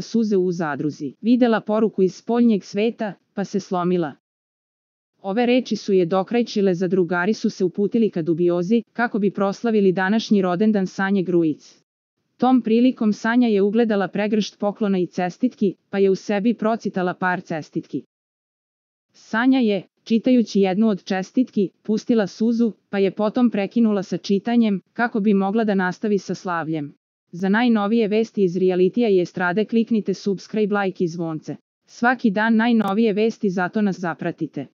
suze u zadruzi. Videla poruku iz spoljnjeg sveta, pa se slomila. Ove reči su je dokrajčile, zadrugari su se uputili ka dubiozi, kako bi proslavili današnji rodendan Sanje Grujic. Tom prilikom Sanja je ugledala pregršt poklona i cestitki, pa je u sebi procitala par cestitki. Sanja je, čitajući jednu od čestitki, pustila suzu, pa je potom prekinula sa čitanjem, kako bi mogla da nastavi sa slavljem. Za najnovije vesti iz realitija i estrade kliknite subscribe, like i zvonce. Svaki dan najnovije vesti, zato nas zapratite.